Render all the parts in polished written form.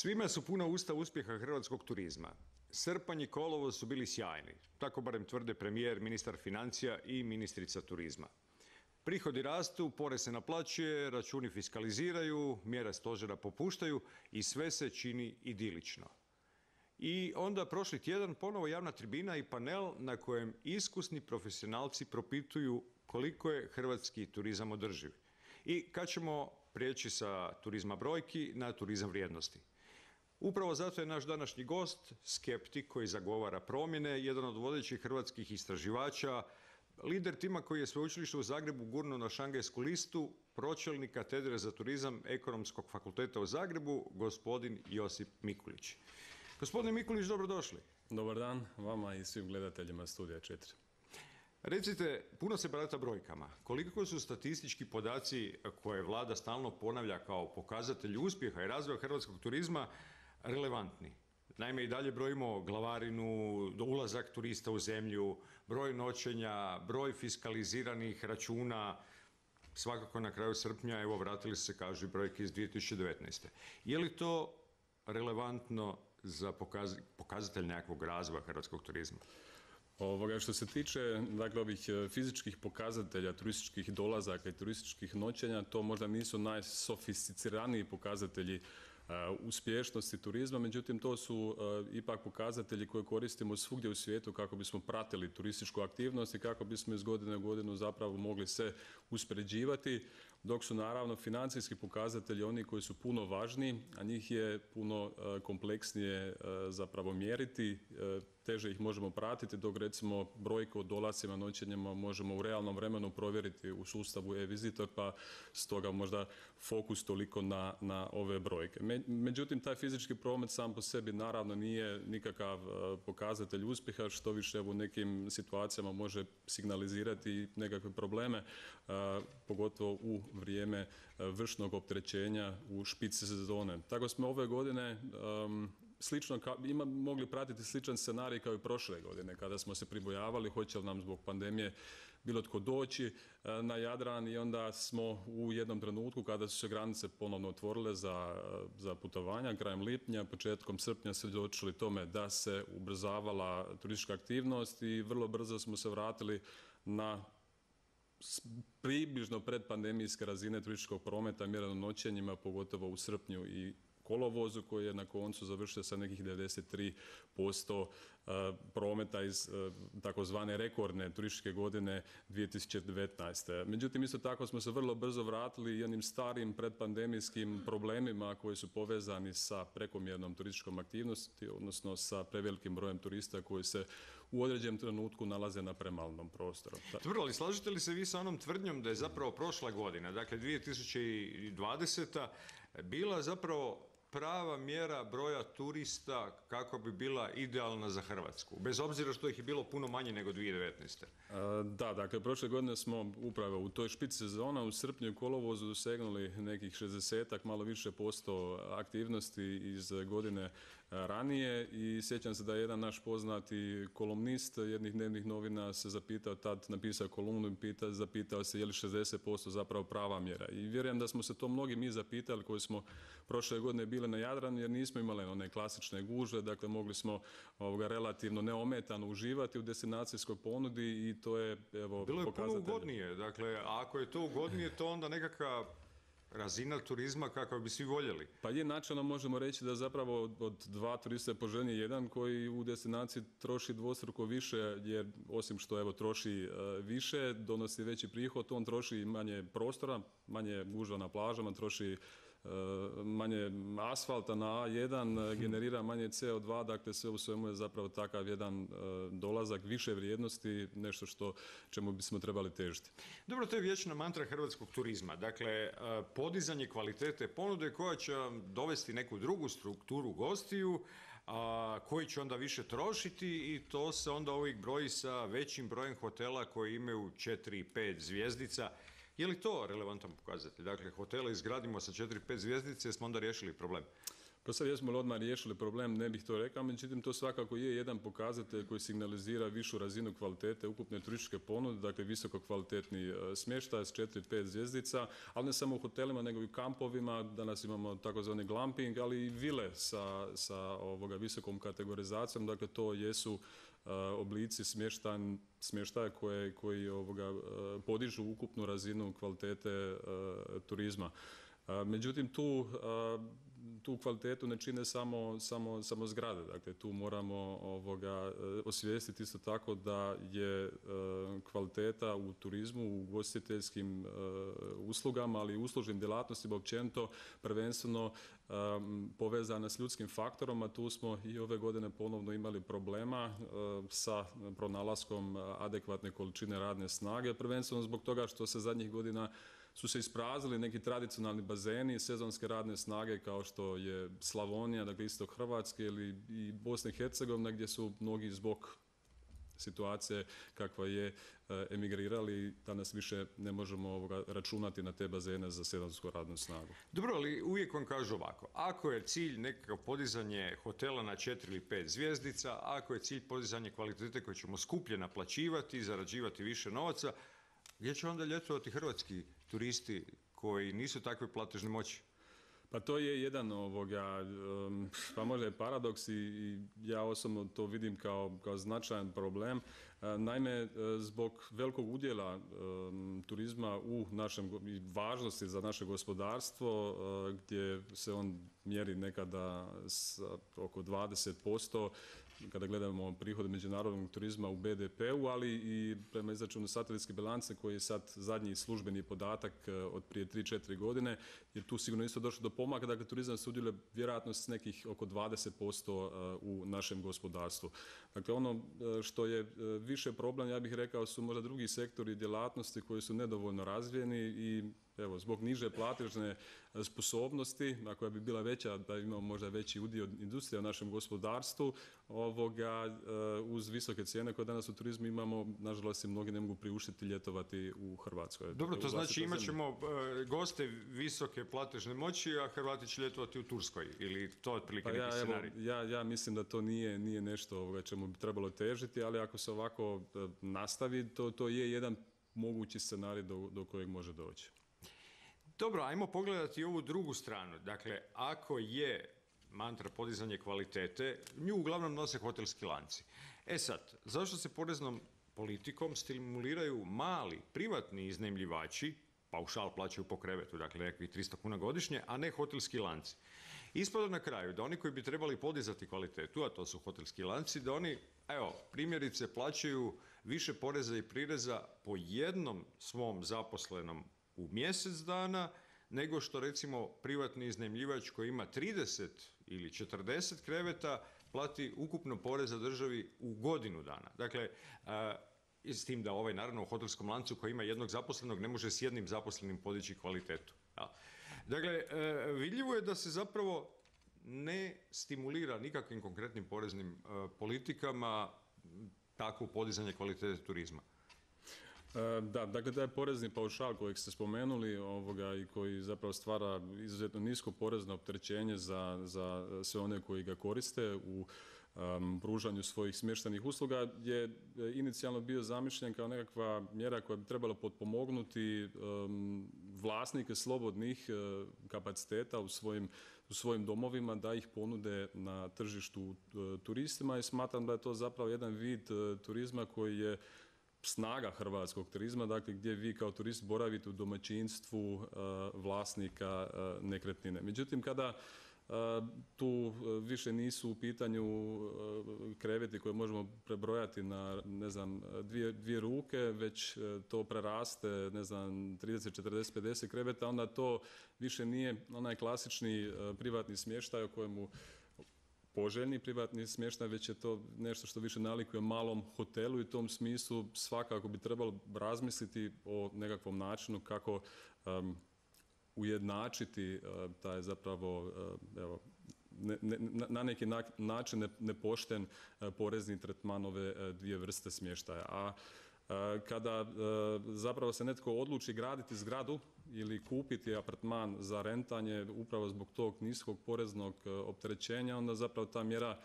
Svima su puna usta uspjeha hrvatskog turizma. Srpanj i kolovoz su bili sjajni, tako barem tvrde premijer, ministar financija i ministrica turizma. Prihodi rastu, porez se naplaćuje, računi fiskaliziraju, mjere stožera popuštaju i sve se čini idilično. I onda prošli tjedan ponovo javna tribina i panel na kojem iskusni profesionalci propituju koliko je hrvatski turizam održiv i kad ćemo prijeći sa turizma brojki na turizam vrijednosti. Upravo zato je naš današnji gost, skeptik koji zagovara promjene, jedan od vodećih hrvatskih istraživača, lider tima koji je sveučilište u Zagrebu gurnuo na šangajsku listu, pročelnik katedre za turizam Ekonomskog fakulteta u Zagrebu, gospodin Josip Mikulić. Gospodine Mikulić, dobrodošli. Dobar dan vama i svim gledateljima Studija 4. Recite, puno se barata brojkama. Koliko su statistički podaci koje vlada stalno ponavlja kao pokazatelj uspjeha i razvoja hrvatskog turizma relevantni? Naime, i dalje brojimo glavarinu, ulazak turista u zemlju, broj noćenja, broj fiskaliziranih računa. Svakako na kraju srpnja, evo, vratili se, kažu, brojke iz 2019. Je li to relevantno za pokazatelj nekakvog razvoja hrvatskog turizma? Što se tiče ovih fizičkih pokazatelja, turističkih dolazaka i turističkih noćenja, to možda nisu najsofisticiraniji pokazatelji uspješnosti turizma, međutim to su ipak pokazatelji koje koristimo svugdje u svijetu kako bismo pratili turističku aktivnost i kako bismo iz godine u godinu zapravo mogli se uspoređivati, dok su naravno financijski pokazatelji oni koji su puno važniji, a njih je puno kompleksnije zapravo mjeriti, teže ih možemo pratiti, dok recimo brojke o dolascima, noćenjima možemo u realnom vremenu provjeriti u sustavu e-Visitor, pa stoga možda fokus toliko na ove brojke. Međutim, taj fizički promet sam po sebi naravno nije nikakav pokazatelj uspjeha, što više u nekim situacijama može signalizirati nekakve probleme, pogotovo u vrijeme vršnog opterećenja u špici sezone. Tako smo ove godine mogli pratiti sličan scenarij kao i prošle godine, kada smo se pribojavali hoće li nam zbog pandemije bilo tko doći na Jadran, i onda smo u jednom trenutku kada su se granice ponovno otvorile za putovanja, krajem lipnja, početkom srpnja svjedočili tome da se ubrzavala turistička aktivnost i vrlo brzo smo se vratili na približno predpandemijske razine turističkog prometa mjereno noćenjima, pogotovo u srpnju i kolovozu, koji je na koncu završio sa nekih 93% prometa iz takozvane rekordne turističke godine 2019. Međutim, isto tako smo se vrlo brzo vratili i onim starim predpandemijskim problemima koji su povezani sa prekomjernom turističkom aktivnosti, odnosno sa prevelikim brojem turista koji se u određenom trenutku nalaze na premalnom prostoru. Dobro, ali slažete li se vi sa onom tvrdnjom da je zapravo prošla godina, dakle 2020. bila zapravo prava mjera broja turista kako bi bila idealna za Hrvatsku, bez obzira što ih je bilo puno manje nego 2019. Da, dakle, prošle godine smo upravo u toj špici sezona u srpnju i kolovozu dosegnuli nekih 60-ak, malo više posto aktivnosti iz godine ranije, i sjećam se da je jedan naš poznati kolumnist jednih dnevnih novina se zapitao, tad napisao kolumnu i zapitao se je li 60% zapravo prava mjera. I vjerujem da smo se to mnogi mi zapitali koji smo prošle godine bili na Jadranu, jer nismo imali one klasične gužve, dakle mogli smo relativno neometano uživati u destinacijskoj ponudi i to je evo bilo je pokazatelj. Puno ugodnije, dakle ako je to ugodnije, to onda nekakva razina turizma kako bi svi voljeli. Pa je, načelno možemo reći da zapravo od dva turista je poželjniji jedan koji u destinaciji troši dvostruko više, jer osim što evo troši više, donosi veći prihod, on troši manje prostora, manje gužva na plažama, troši manje asfalta na A1, generira manje CO2, dakle sve u svemu je zapravo takav jedan dolazak više vrijednosti, nešto čemu bismo trebali težiti. Dobro, to je vječna mantra hrvatskog turizma, dakle podizanje kvalitete ponude koja će dovesti neku drugu strukturu gostiju, koji će onda više trošiti, i to se onda uvijek broji sa većim brojem hotela koji imaju 4 i 5 zvjezdica. Je li to relevantan pokazatelj? Dakle, hotele izgradimo sa 4-5 zvjezdice, smo onda riješili problem? Pa sad jesmo li odmah riješili problem, ne bih to rekao, međutim to svakako je jedan pokazatelj koji signalizira višu razinu kvalitete ukupne turističke ponude, dakle visoko kvalitetni smještaj s 4-5 zvjezdica, ali ne samo u hotelima nego i u kampovima. Danas imamo takozvani glamping, ali i vile sa visokom kategorizacijom, dakle to jesu oblici smještaja koji podižu ukupnu razinu kvalitete turizma. Međutim, tu kvalitetu ne čine samo zgrade, dakle tu moramo osvijestiti isto tako da je kvaliteta u turizmu, u ugostiteljskim uslugama, ali i uslužnim djelatnostima općenito prvenstveno povezana s ljudskim faktorom, a tu smo i ove godine ponovno imali problema sa pronalaskom adekvatne količine radne snage, prvenstveno zbog toga što se zadnjih godina su se ispraznili neki tradicionalni bazeni sezonske radne snage kao što je Slavonija, dakle istok Hrvatske ili i Bosna i Hercegovina gdje su mnogi zbog situacije kakva je emigrirali, danas više ne možemo računati na te bazene za sezonsku radnu snagu. Dobro, ali uvijek vam kažu ovako, ako je cilj nekakav podizanje hotela na 4 ili 5 zvjezdica, ako je cilj podizanje kvalitete koju ćemo skuplje naplaćivati, zarađivati više novaca, gdje će onda ljetovati hrvatski turisti koji nisu takve platežne moći? Pa to je jedan pa možda je paradoks i ja osobno to vidim kao značajan problem. Naime, zbog velikog udjela turizma u našem i važnosti za naše gospodarstvo, gdje se on mjeri nekada oko 20%, kada gledamo prihode međunarodnog turizma u BDP-u, ali i prema izračunu satelitske bilance koji je sad zadnji službeni podatak od prije 3-4 godine, jer tu sigurno isto došlo do pomaka, dakle turizam sudjeluje vjerojatno s nekih oko 20% u našem gospodarstvu. Dakle, ono što je više problem, ja bih rekao, su možda drugi sektori djelatnosti koji su nedovoljno razvijeni i evo, zbog niže platežne sposobnosti, a koja bi bila veća da imamo možda veći udio industrije u našem gospodarstvu, uz visoke cijene koje danas u turizmu imamo, nažalost, mnogi ne mogu priuštiti ljetovati u Hrvatskoj. Dobro, to znači imat ćemo goste visoke platežne moći, a Hrvati će ljetovati u Turskoj, ili to je otprilike neki scenarij? Ja mislim da to nije nešto čemu bi trebalo težiti, ali ako se ovako nastavi, to je jedan mogući scenarij do kojeg može doći. Dobro, ajmo pogledati ovu drugu stranu. Dakle, ako je mantra podizanje kvalitete, nju uglavnom nose hotelski lanci. E sad, zašto se poreznom politikom stimuliraju mali, privatni iznajmljivači, paušal plaćaju po krevetu, dakle nekakvih 300 kuna godišnje, a ne hotelski lanci? Ispada na kraju da oni koji bi trebali podizati kvalitetu, a to su hotelski lanci, da oni, primjerice, plaćaju više poreza i prireza po jednom svom zaposlenom u mjesec dana, nego što recimo privatni iznajmljivač koji ima 30 ili 40 kreveta plati ukupno poreza državi u godinu dana. Dakle, s tim da naravno u hotelskom lancu koji ima jednog zaposlenog ne može s jednim zaposlenim podići kvalitetu. Ja. Dakle, vidljivo je da se zapravo ne stimulira nikakvim konkretnim poreznim politikama takvo podizanje kvalitete turizma. Da, dakle taj porezni paušal kojeg ste spomenuli i koji zapravo stvara izuzetno nisko porezno opterećenje za sve one koji ga koriste u pružanju svojih smještajnih usluga je inicijalno bio zamišljen kao nekakva mjera koja bi trebala potpomognuti vlasnike slobodnih kapaciteta u svojim domovima da ih ponude na tržištu turistima i smatram da je to zapravo jedan vid turizma koji je snaga hrvatskog turizma, dakle gdje vi kao turist boravite u domaćinstvu vlasnika nekretnine. Međutim, kada tu više nisu u pitanju kreveti koje možemo prebrojati na, ne znam, dvije ruke, već to preraste, ne znam, 30, 40, 50 kreveta, onda to više nije onaj klasični privatni smještaj o kojemu poželjni privatni smještaj, već je to nešto što više nalikuje malom hotelu i u tom smislu svakako bi trebalo razmisliti o nekakvom načinu kako ujednačiti taj zapravo na neki način nepošten porezni tretman ove dvije vrste smještaja. A Kada zapravo se netko odluči graditi zgradu ili kupiti apartman za rentanje upravo zbog tog niskog poreznog opterećenja, onda zapravo ta mjera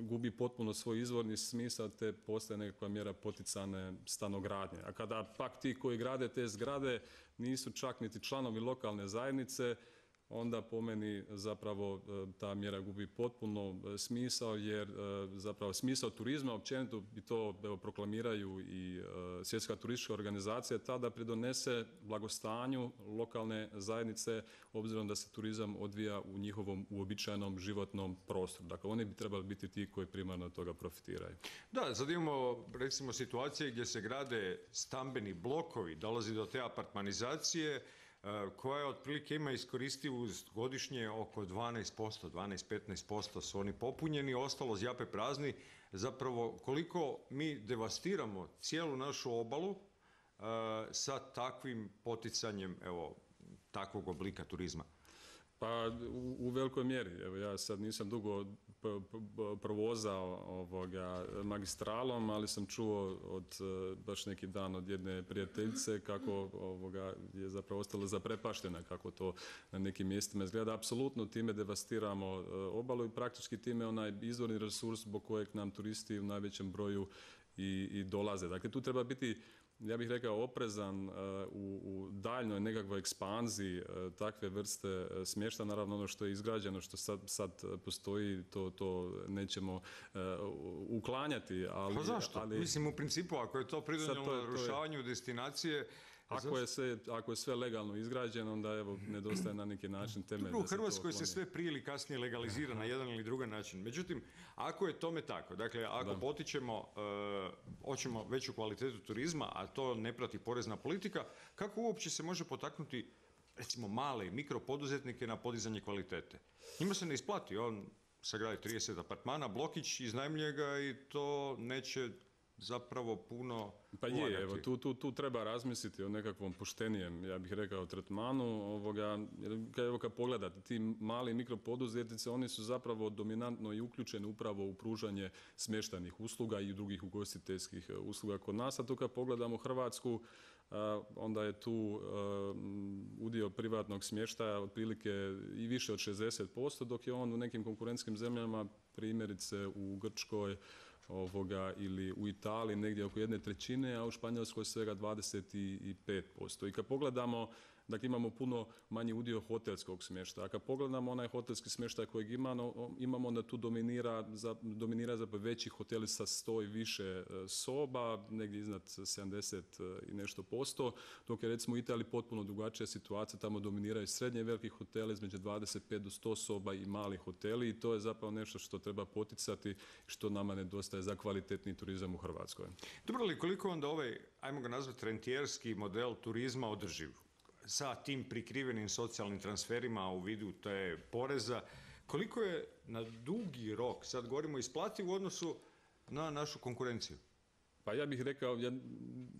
gubi potpuno svoj izvorni smisao te postaje nekakva mjera poticane stanogradnje. A kada pak ti koji grade te zgrade nisu čak niti članovi lokalne zajednice, onda po meni zapravo ta mjera gubi potpuno smisao, jer zapravo smisao turizma općenito i to proklamiraju i Svjetska turistička organizacija tada pridonese blagostanju lokalne zajednice obzirom da se turizam odvija u njihovom uobičajenom životnom prostoru. Dakle, oni bi trebali biti ti koji primarno od toga profitiraju. Da, sad imamo recimo situacije gdje se grade stambeni blokovi, dolazi do te apartmanizacije koja otprilike ima iskoristivost godišnje oko 12%, 12-15% su oni popunjeni, ostalo zjape prazni. Zapravo koliko mi devastiramo cijelu našu obalu sa takvim poticanjem takvog oblika turizma. Pa u velikoj mjeri. Evo, ja sad nisam dugo provozao magistralom, ali sam čuo od baš neki dan od jedne prijateljice kako je zapravo ostalo zaprepaštena kako to na nekim mjestima izgleda. Apsolutno time devastiramo obalu i praktički time onaj izvorni resurs zbog kojeg nam turisti u najvećem broju i dolaze. Dakle, tu treba biti, ja bih rekao, oprezan u daljnjoj nekakvoj ekspanziji takve vrste smještaja. Naravno, ono što je izgrađeno, što sad postoji, to nećemo uklanjati. Pa zašto? Mislim, u principu, ako je to pridonijelo narušavanju destinacije... Ako je sve legalno izgrađeno, onda evo, nedostaje na neki način temelj. U Hrvatskoj se sve prije ili kasnije legalizira na jedan ili drugi način. Međutim, ako je tome tako, dakle, ako potičemo, hoćemo veću kvalitetu turizma, a to ne prati porezna politika, kako uopće se može potaknuti, recimo, male mikropoduzetnike na podizanje kvalitete? Njima se ne isplati, on sagradi 30 apartmana, blokić, iznajmljuje ga i to neće zapravo puno pa je, evo, tu treba razmisliti o nekakvom poštenijem, ja bih rekao, tretmanu. Evo, kad pogledate, ti mali mikropoduzetnici, oni su zapravo dominantno i uključeni upravo u pružanje smještajnih usluga i drugih ugostiteljskih usluga kod nas. A tu kad pogledamo Hrvatsku, onda je tu udio privatnog smještaja otprilike i više od 60%, dok je on u nekim konkurentskim zemljama, primjerice u Grčkoj, ili u Italiji negdje oko 1/3, a u Španjolskoj svega 25%. I kad pogledamo, dakle, imamo puno manji udio hotelskog smještaja. A kad pogledamo onaj hotelski smještaj kojeg imamo, onda tu dominira zapravo veći hoteli sa 100 i više soba, negdje iznad 70 i nešto %, dok je recimo u Italiji potpuno drugačija situacija, tamo dominiraju srednje i veliki hoteli između 25 do 100 soba i mali hoteli i to je zapravo nešto što treba poticati, što nama nedostaje za kvalitetni turizam u Hrvatskoj. Dobro, ali koliko onda ovaj, ajmo ga nazvati, rentijerski model turizma održiv? Sa tim prikrivenim socijalnim transferima u vidu te poreza, koliko je na dugi rok, sad govorimo, isplati u odnosu na našu konkurenciju? Pa ja bih rekao, ja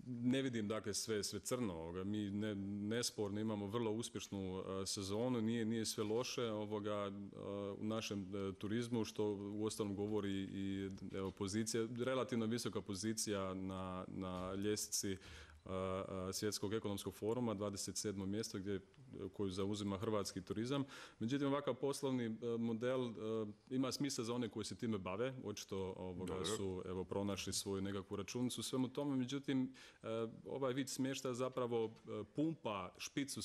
ne vidim dakle sve crno. Mi nesporno imamo vrlo uspješnu sezonu, nije sve loše u našem turizmu, što uostalom govori i pozicija, relativno visoka pozicija na ljestvici Svjetskog ekonomskog foruma, 27. mjesto koju zauzima hrvatski turizam. Međutim, ovakav poslovni model ima smisla za one koji se time bave, očito su pronašli svoju nekakvu računicu u svemu tome. Međutim, ovaj vid smještaja zapravo pumpa špicu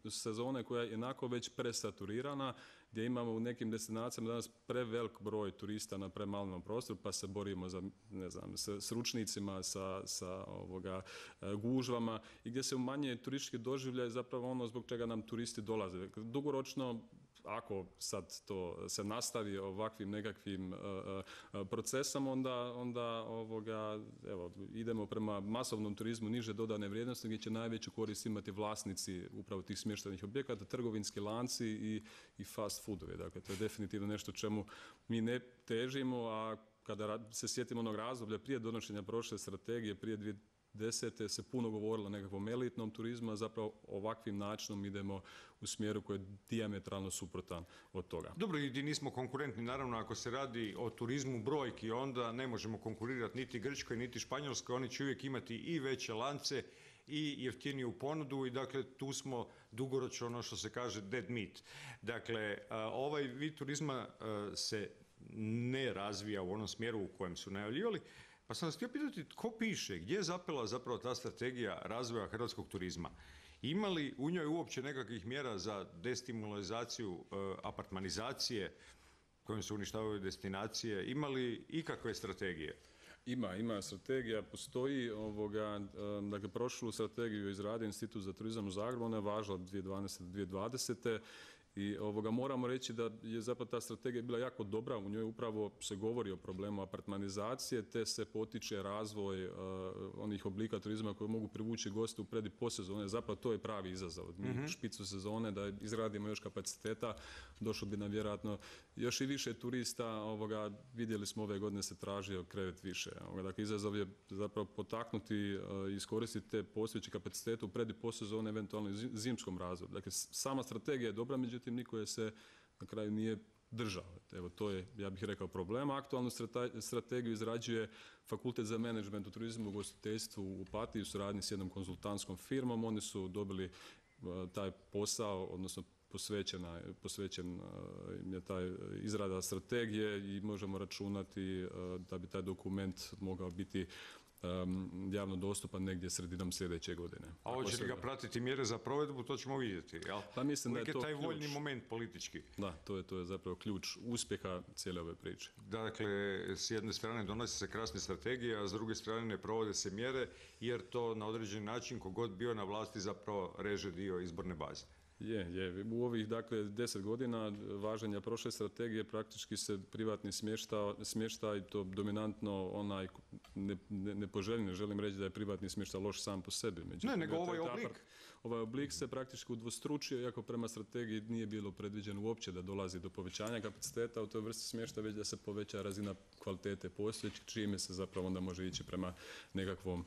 sezone koja je jednako već presaturirana, gdje imamo u nekim destinacijama danas prevelik broj turista na premalnom prostoru, pa se borimo za, ne znam, s ručnicima, sa gužvama i gdje se umanjuje turistički doživljaj, zapravo ono zbog čega nam turisti dolaze. Dugoročno, ako sad to se nastavi ovakvim nekakvim procesom, onda idemo prema masovnom turizmu niže dodane vrijednosti, gdje će najveću korist imati vlasnici upravo tih smještajnih objekata, trgovinski lanci i fast foodovi. Dakle, to je definitivno nešto čemu mi ne težimo, a kada se sjetimo onog razdoblja prije donošenja prošle strategije, prije 2010. se puno govorilo o nekakvom elitnom turizmu, a zapravo ovakvim načinom idemo u smjeru koji je dijametralno suprotan od toga. Dobro, i nismo konkurentni, naravno, ako se radi o turizmu brojki, onda ne možemo konkurirati niti Grčkoj, niti Španjolskoj, oni će uvijek imati i veće lance i jeftiniju ponudu i dakle tu smo dugoročno, ono što se kaže, dead meat. Dakle, ovaj vid turizma se ne razvija u onom smjeru u kojem su najavljivali. Pa sam vas htio pitati tko piše, gdje je zapela zapravo ta strategija razvoja hrvatskog turizma? Ima li u njoj uopće nekakvih mjera za destimularizaciju apartmanizacije kojom se uništavaju destinacije? Ima li ikakve strategije? Ima strategija, postoji, dakle prošlu strategiju izradio Institut za turizam u Zagrebu, ona je važila od 2012. do 2020. I moramo reći da je zapravo ta strategija bila jako dobra, u njoj upravo se govori o problemu apartmanizacije, te se potiče razvoj onih oblika turizma koji mogu privući goste u pred i postsezone. Zapravo to je pravi izazov. Mi špicu sezone da izradimo još kapaciteta, došlo bi nam vjerojatno još i više turista. Vidjeli smo ove godine se tražio krevet više. Dakle, izazov je zapravo potaknuti i iskoristiti te postojeće kapacitete u pred i postsezone, eventualno i zimskom razdoblju. Dakle, sama strategija je dobra, međutim niko je se na kraju nije držao. Evo, to je, ja bih rekao, problem. Aktualnu strategiju izrađuje Fakultet za menadžment u turizmu i ugostiteljstvu u Opatiji u suradnji s jednom konzultantskom firmom. Oni su dobili taj posao, odnosno posvećen je taj izrada strategije i možemo računati da bi taj dokument mogao biti javno dostupan negdje sredinom sljedeće godine. A hoće li ga pratiti mjere za provedbu, to ćemo vidjeti, jel? Pa mislim da je to taj ključ. voljni moment politički. Da, to je zapravo ključ uspjeha cijele ove priče. Dakle, s jedne strane donosi se krasne strategije, a s druge strane ne provode se mjere, jer to na određeni način, kogod bio na vlasti, zapravo reže dio izborne baze. Je. U ovih, dakle, 10 godina važenja prošle strategije praktički se privatni smještaj i to dominantno onaj nepoželjni. Želim reći da je privatni smještaj loš sam po sebi. Ne, nego ovaj oblik. Ovaj oblik se praktički udvostručio, iako prema strategiji nije bilo predviđeno uopće da dolazi do povećanja kapaciteta u toj vrsti smještaja, već da se poveća razina kvalitete postojećeg, čime se zapravo onda može ići prema nekakvom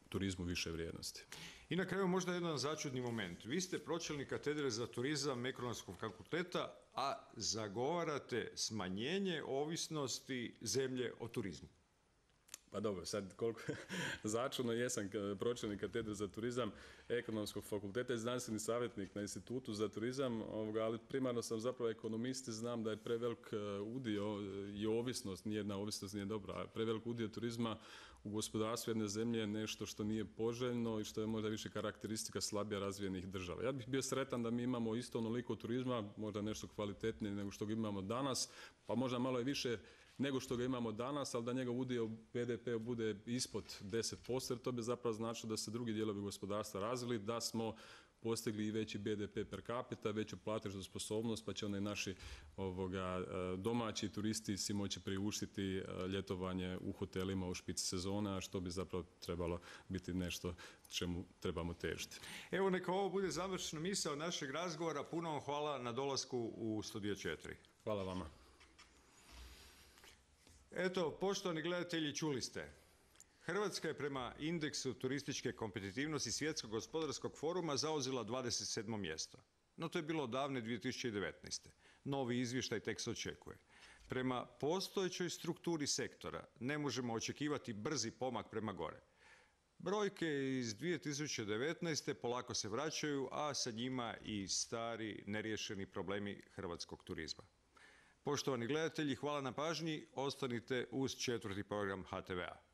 turizmu više vrijednosti. I na kraju možda jedan začudni moment. Vi ste pročelnik katedre za turizam Ekonomskog fakulteta, a zagovarate smanjenje ovisnosti zemlje o turizmu. Pa dobro, sad koliko začudno jesam pročelnik katedre za turizam Ekonomskog fakulteta i znanstveni savjetnik na Institutu za turizam, ali primarno sam zapravo ekonomist i znam da je prevelik udio i ovisnost, nijedna ovisnost nije dobra, prevelik udio turizma u gospodarstvu jedne zemlje je nešto što nije poželjno i što je možda više karakteristika slabije razvijenih država. Ja bih bio sretan da mi imamo isto onoliko turizma, možda nešto kvalitetnije nego što ga imamo danas, pa možda malo i više nego što ga imamo danas, ali da njegov udio BDP bude ispod 10%, jer to bi zapravo značilo da se drugi dijelovi gospodarstva razvili, da smo postigli i veći BDP per capita, veću platežnu sposobnost, pa će onda i naši domaći turisti si moći priuštiti ljetovanje u hotelima u špici sezone, a što bi zapravo trebalo biti nešto čemu trebamo težiti. Evo, neka ovo bude završna misao našeg razgovora. Puno vam hvala na dolasku u Studio 4. Hvala vama. Eto, poštovani gledatelji, čuli ste. Hrvatska je prema indeksu turističke kompetitivnosti Svjetskog gospodarskog foruma zauzela 27. mjesto. No to je bilo davne 2019. Novi izvještaj tek se očekuje. Prema postojećoj strukturi sektora ne možemo očekivati brzi pomak prema gore. Brojke iz 2019. polako se vraćaju, a sa njima i stari neriješeni problemi hrvatskog turizma. Poštovani gledatelji, hvala na pažnji. Ostanite uz 4. program HTV-a.